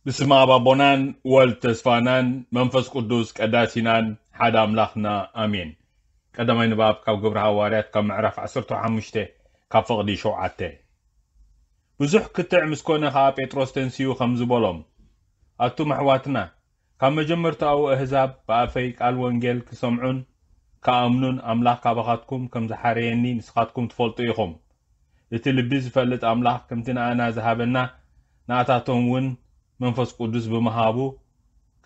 ብስመ ኣብ ኣቦናን ወልድ ተስፋናን መንፈስ ቅዱስ ቀዳሲናን ሓደ ኣምላኽና ኣሜን። ቀዳማይ ንባብ ካብ ግብሪ ሃዋርያት ካብ ምዕራፍ ዓሰርተ ሓሙሽተ ካብ ፍቕዲ ሸውዓተ። ብዙሕ ክትዕ ምስ ኮነ ኸኣ ጴጥሮስ ተንሲኡ ከምዚ በሎም፣ ኣቱም ኣሕዋትና፣ ካብ መጀመርታኡ ኣህዛብ ብኣፈይ ቃል ወንጌል ክሰምዑን ክኣምኑን ኣምላኽ ካባኻትኩም ከም ዝሓረየኒ ንስኻትኩም ትፈልጡ ኢኹም። እቲ ልቢ ዝፈልጥ ኣምላኽ ከምቲ ንኣና ዝሃበና ንኣታቶም እውን መንፈስ ቅዱስ ብምሃቡ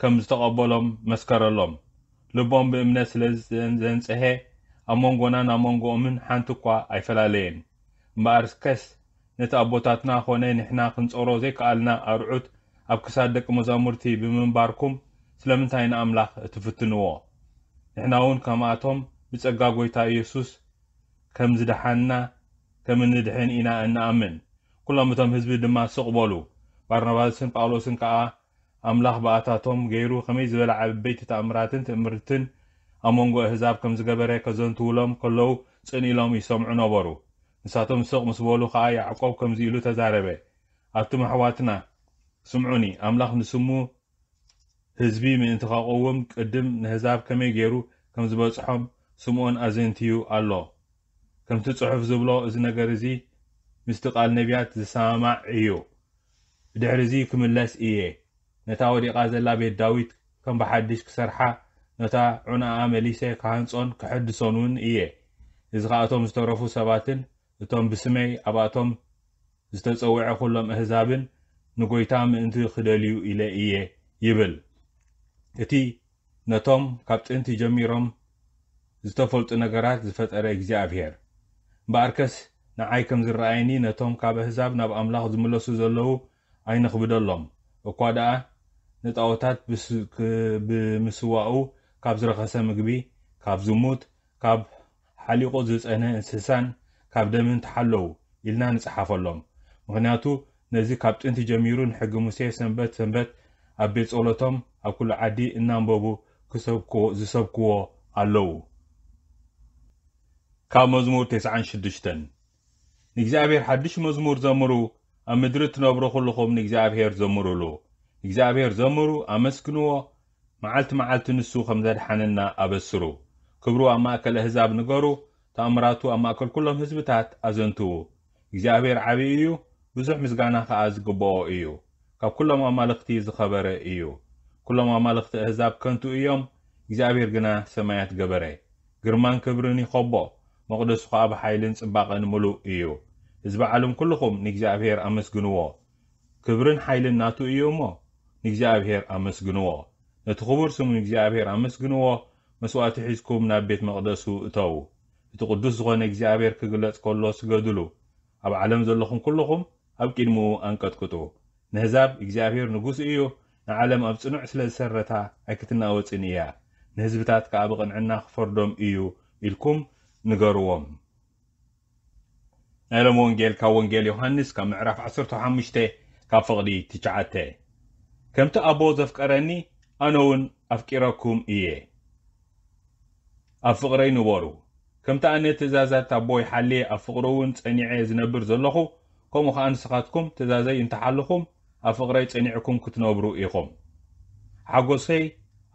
ከም ዝተቐበሎም መስከረሎም። ልቦም ብእምነት ስለ ዘንጽሔ ኣብ መንጎናን ኣብ መንጎኦምን ሓንቲ እኳ ኣይፈላለየን። እምበኣርከስ ነቲ ኣቦታትና ኾነ ንሕና ክንጾሮ ዘይከኣልና ኣርዑት ኣብ ክሳድ ደቂ መዛሙርቲ ብምንባርኩም ስለምንታይ ንኣምላኽ ትፍትንዎ? ንሕና እውን ከምኣቶም ብጸጋ ጐይታ ኢየሱስ ከም ዝደሓንና ከም እንድሕን ኢና እንኣምን። ኩሎም እቶም ህዝቢ ድማ ስቕ በሉ። ባርናባስን ጳውሎስን ከኣ ኣምላኽ ብኣታቶም ገይሩ ከመይ ዝበለ ዓበይቲ ተኣምራትን ትእምርትን ኣብ መንጎ ኣህዛብ ከም ዝገበረ ከዘንትውሎም ከለዉ ጽን ኢሎም ይሰምዑ ነበሩ። ንሳቶም ስቕ ምስ በሉ ኸኣ ያዕቆብ ከምዚ ኢሉ ተዛረበ፣ ኣቱም ኣሕዋትና፣ ስምዑኒ፣ ኣምላኽ ንስሙ ህዝቢ ምእንቲ ኸቐውም ቅድም ንህዛብ ከመይ ገይሩ ከም ዝበጽሖም ስምዖን ኣዘንትዩ ኣሎ። ከምቲ ጽሑፍ ዝብሎ እዚ ነገር እዚ ምስቲ ቃል ነቢያት ዝሰማማዕ እዩ። ብድሕሪ እዚ ክምለስ እየ። ነታ ወዲቓ ዘላ ቤት ዳዊት ከም ብሓድሽ ክሰርሓ፣ ነታ ዑናኣ መሊሰ ክሃንጾን ክሕድሶን እውን እየ። እዚ ኸኣ እቶም ዝተረፉ ሰባትን እቶም ብስመይ ኣብኣቶም ዝተጸውዐ ኩሎም ኣህዛብን ንጎይታ ምእንቲ ክደልዩ ኢለ እየ ይብል። እቲ ነቶም ካብ ጥንቲ ጀሚሮም ዝተፈልጡ ነገራት ዝፈጠረ እግዚኣብሔር። እምበኣርከስ ንዓይ ከም ዝረኣየኒ ነቶም ካብ ኣህዛብ ናብ ኣምላኽ ዝምለሱ ዘለዉ ኣይነኽብደሎም። እኳ ደኣ ንጣኦታት ብስ-፣ ክ-፣ ብምስዋኡ ካብ ዝረኸሰ ምግቢ፣ ካብ ዝሙት፣ ካብ ሓሊቑ ዝጸነ እንስሳን ካብ ደምን ተሓለዉ ኢልና ንጽሓፈሎም። ምኽንያቱ ነዚ ካብ ጥንቲ ጀሚሩ ንሕጊ ሙሴ ሰንበት ሰንበት ኣብ ቤት ጸሎቶም ኣብ ኩሉ ዓዲ እናንበቡ ክሰብክዎ፣ ዝሰብክዎ ኣለዉ። ካብ መዝሙር ተስዓን ሽዱሽተን። ንእግዚኣብሔር ሓድሽ መዝሙር ዘምሩ፣ ኣብ ምድሪ እትነብሩ ኩልኹም ንእግዚኣብሔር ዘምሩሉ። ንእግዚኣብሔር ዘምሩ፣ ኣመስግንዎ፣ መዓልቲ መዓልቲ ንሱ ከም ዘድሓነና ኣበስሩ። ክብሩ ኣብ ማእከል ኣህዛብ ንገሩ፣ ተኣምራቱ ኣብ ማእከል ኩሎም ህዝብታት ኣዘንትዉ። እግዚኣብሔር ዓቢ እዩ፣ ብዙሕ ምስጋና ከኣ ዝግብኦ እዩ። ካብ ኩሎም ኣማልኽቲ ዝኸበረ እዩ። ኩሎም ኣማልኽቲ ኣህዛብ ከንቱ እዮም፣ እግዚኣብሔር ግና ሰማያት ገበረ። ግርማን ክብርን ይኸቦ፣ መቕደሱ ኸኣ ብሓይልን ጽባቐን ምሉእ እዩ። ህዝቢ ዓለም ኩልኹም ንእግዚኣብሔር ኣመስግንዎ። ክብርን ሓይልን ናቱ እዩ እሞ፣ ንእግዚኣብሔር ኣመስግንዎ። ነቲ ክቡር ስሙ እግዚኣብሔር ኣመስግንዎ፣ መስዋእቲ ሒዝኩም ናብ ቤት መቕደሱ እተዉ። እቲ ቅዱስ ዝኾነ እግዚኣብሔር ክግለጽ ከሎ ስገዱሉ። ኣብ ዓለም ዘለኹም ኩልኹም ኣብ ቅድሚኡ ኣንቀጥቅጡ። ንህዛብ እግዚኣብሔር ንጉስ እዩ፣ ንዓለም ኣብ ጽኑዕ ስለ ዝሰረታ ኣይክትናወጽን እያ። ንህዝብታት ከኣ ብቕንዕና ክፈርዶም እዩ ኢልኩም ንገርዎም። ናይ ሎሚ ወንጌል ካብ ወንጌል ዮሃንስ ካብ ምዕራፍ ዓሰርተ ሓሙሽተ ካብ ፍቕዲ ትሽዓተ። ከምቲ ኣቦ ዘፍቀረኒ ኣነ እውን ኣፍቂረኩም እየ። ኣብ ፍቕረይ ንበሩ። ከምቲ ኣነ ትእዛዛት ኣቦይ ሓልየ ኣብ ፍቕሩ እውን ጸኒዐ ዝነብር ዘለኹ፣ ከምኡ ኸኣ ንስኻትኩም ትእዛዘይ እንተሓልኹም ኣብ ፍቕረይ ጸኒዕኩም ክትነብሩ ኢኹም። ሓጎሰይ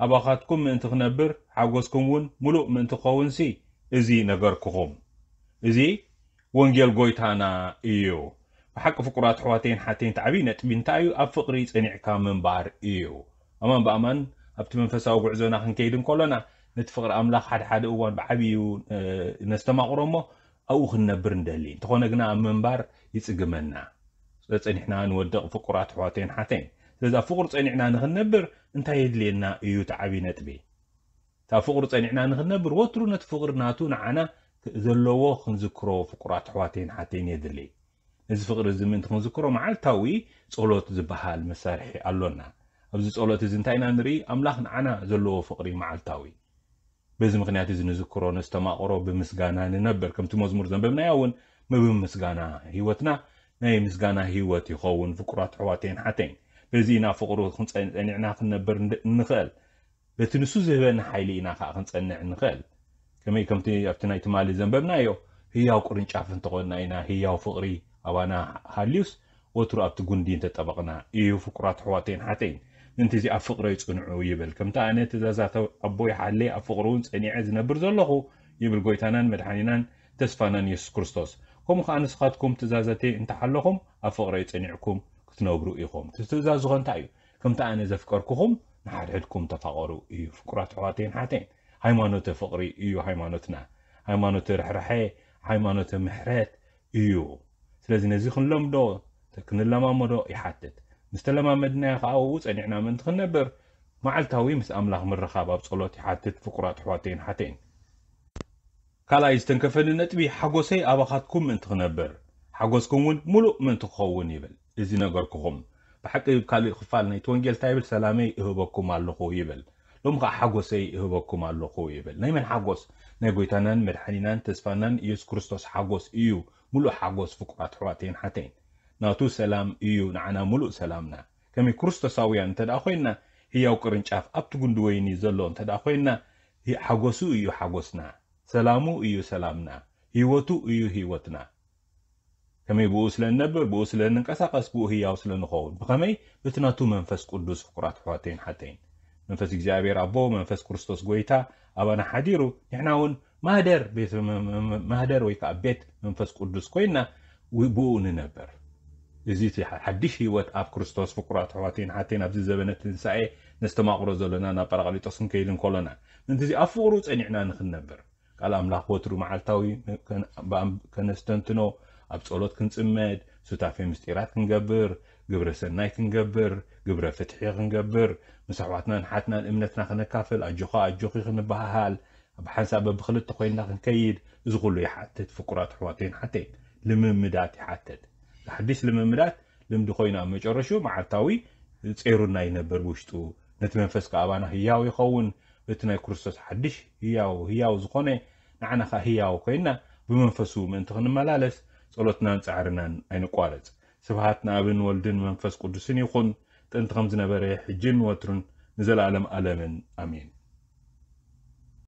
ኣባኻትኩም ምእንቲ ክነብር፣ ሓጎስኩም እውን ምሉእ ምእንቲ ክኸውንሲ እዚ ነገርኩኹም። እዚ ወንጌል ጎይታና እዩ። ብሓቂ ፍቁራት ኣሕዋተይን ሓተይን፣ እቲ ዓብዪ ነጥቢ እንታይ እዩ? ኣብ ፍቕሪ ጸኒዕካ ምንባር እዩ። ኣማን ብኣማን ኣብቲ መንፈሳዊ ጉዕዞና ክንከይድ እንከሎና፣ ነቲ ፍቕሪ ኣምላኽ ሓደ ሓደ እዋን ብዓብዩ፣ እ፣ ነስተማቕሮ እሞ ኣብኡ ክንነብር ንደሊ። እንተኾነ ግና ኣብ ምንባር ይጽግመና። ጸኒሕና ንወድቕ ፍቁራት ኣሕዋተይን ሓተይን። ስለዚ ኣብ ፍቕሪ ጸኒዕና ንኽንነብር እንታይ የድልየና እዩ? እቲ ዓብዪ ነጥቢ። እታ ፍቕሪ ጸኒዕና ንኽንነብር ወትሩ ነቲ ፍቕሪ ናቱ ንዓና ዘለዎ ክንዝክሮ ፍቁራት ኣሕዋተይን ሓተይን የድሊ። ነዚ ፍቕሪ እዚ ምእንቲ ክንዝክሮ መዓልታዊ ጸሎት ዝበሃል መሳርሒ ኣሎና። ኣብዚ ጸሎት እዚ እንታይ ኢና ንርኢ? ኣምላኽ ንዓና ዘለዎ ፍቕሪ መዓልታዊ። በዚ ምኽንያት እዚ ንዝክሮ፣ ነስተማቕሮ፣ ብምስጋና ንነብር። ከምቲ መዝሙር ዘንበብናዮ እውን፣ ብምስጋና ህይወትና ናይ ምስጋና ህይወት ይኸውን። ፍቁራት ኣሕዋተይን ሓተይን፣ በዚ ኢና ፍቕሩ ክንጸ-፣ ጸኒዕና ክንነብር እንድ-፣ እንኽእል። በቲ ንሱ ዝህበና ሓይሊ ኢና ኸዓ ክንጸንዕ እንኽእል። ከመይ? ከምቲ ኣብቲ ናይ ትማሊ ዘንበብናዮ፣ ህያው ቅርንጫፍ እንተኾንና ኢና፣ ህያው ፍቕሪ ኣባና ሃልዩስ፣ ወትሩ ኣብቲ ጉንዲ እንተጠበቕና እዩ። ፍቁራት ኣሕዋተይን ሓተይን፣ ምእንቲ እዚ ኣብ ፍቕረይ ጽንዑ ይብል። ከምቲ ኣነ ትእዛዛት ኣቦይ ሓልየ ኣብ ፍቕሩ እውን ጸኒዐ ዝነብር ዘለኹ ይብል ጎይታናን መድሓኒናን ተስፋናን የሱስ ክርስቶስ። ከምኡ ከኣ ንስኻትኩም ትእዛዛተይ እንተሓለኹም ኣብ ፍቕረይ ጸኒዕኩም ክትነብሩ ኢኹም። እቲ ትእዛዝ ዝኾነ እንታይ እዩ? ከምቲ ኣነ ዘፍቀርኩኹም ንሓድሕድኩም ተፋቐሩ እዩ። ፍቁራት ኣሕዋተይን ሓተይን፣ ሃይማኖተ ፍቕሪ እዩ ሃይማኖትና። ሃይማኖተ ርሕራሐ፣ ሃይማኖተ ምሕረት እዩ። ስለዚ ነዚ ክንለምዶ፣ ክንለማመዶ ይሓትት። ምስ ተለማመድናዮ ከኣ ኣብኡ ጸኒዕና ምእንቲ ክንነብር፣ መዓልታዊ ምስ ኣምላኽ ምርኻብ ኣብ ጸሎት ይሓትት። ፍቁራት ኣሕዋተይን ሓተይን፣ ካልኣይ ዝተንከፈኒ ነጥቢ፣ ሓጎሰይ ኣባኻትኩም ምእንቲ ክነብር፣ ሓጎስኩም እውን ምሉእ ምእንቲ ክኸውን ይብል። እዚ ነገርኩኹም። ብሓቂ ካልእ ክፋል ናይቲ ወንጌል እንታይ ይብል? ሰላመይ እህበኩም ኣለኹ ይብል። ሎም ከኣ ሓጎሰይ እህበኩም ኣለኹ ይብል። ናይ መን ሓጎስ? ናይ ጎይታናን መድሓኒናን ተስፋናን ኢየሱስ ክርስቶስ ሓጎስ እዩ። ምሉእ ሓጎስ ፍቁራት ኣሕዋተይን ሓተይን። ናቱ ሰላም እዩ ንዓና ምሉእ ሰላምና። ከመይ ክርስቶሳውያን እንተ ደኣ ኮይንና፣ ህያው ቅርንጫፍ ኣብቲ ጉንዲ ወይኒ ዘሎ እንተ ደኣ ኮይንና፣ ህ-፣ ሓጎሱ እዩ ሓጎስና፣ ሰላሙ እዩ ሰላምና፣ ህይወቱ እዩ ህይወትና። ከመይ ብኡ ስለ እንነብር፣ ብኡ ስለ እንንቀሳቐስ፣ ብኡ ህያው ስለ ንኸውን። ብኸመይ? በቲ ናቱ መንፈስ ቅዱስ። ፍቁራት ኣሕዋተይን ሓተይን፣ መንፈስ እግዚኣብሔር ኣቦ፣ መንፈስ ክርስቶስ ጎይታ ኣባና ሓዲሩ፣ ንሕና እውን ማህደር ቤት መ-፣ መ-፣ መ-፣ ማህደር ወይ ከኣ ቤት መንፈስ ቅዱስ ኮይና ው-፣ ብኡ ንነብር። እዚ እቲ ሓ-፣ ሓድሽ ህይወት ኣብ ክርስቶስ። ፍቁራት ኣሕዋተይን ሓተይን፣ ኣብዚ ዘበነ ትንሳኤ ነስተማቕሮ ዘለና ናብ ጳራቅሊጦስ ክንከይድ እንከሎና፣ ምእንቲ እዚ ኣብ ፍቕሩ ጸኒዕና ንኽንነብር፣ ቃል ኣምላኽ ወትሩ መዓልታዊ ከን-፣ ብኣም-፣ ከነስተንትኖ፣ ኣብ ጸሎት ክንጽመድ፣ ሱታፌ ምስጢራት ክንገብር፣ ግብረ ሰናይ ክንገብር፣ ግብረ ፍትሒ ክንገብር፣ ምስ ኣሕዋትናን ሓትናን እምነትና ክነካፍል፣ ኣጆኻ ኣጆኺ ክንበሃሃል፣ ብሓንሳብ በብኽልተ ኮይንና ክንከይድ፣ እዚ ኩሉ ይሓትት። ፍቁራት ኣሕዋተይን ሓተይን፣ ልምምዳት ይሓትት። ሓድሽ ልምምዳት ልምዲ ኮይኑ ኣብ መጨረሽኡ መዓልታዊ ጼሩና ይነብር ብውሽጡ። ነቲ መንፈስ ከኣ ኣባና ህያው ይኸውን። እቲ ናይ ክርስቶስ ሓድሽ ህያው፣ ህያው ዝኾነ ንዓና ከኣ ህያው ኮይንና ብመንፈሱ ምእንቲ ክንመላለስ ጸሎትናን ጻዕርናን ኣይንቋረጽ። ስብሃት ንኣብን ወልድን መንፈስ ቅዱስን ይኹን፣ ጥንቲ ከም ዝነበረ፣ ሕጅን ወትሩን፣ ንዘለኣለም ኣለምን። ኣሜን።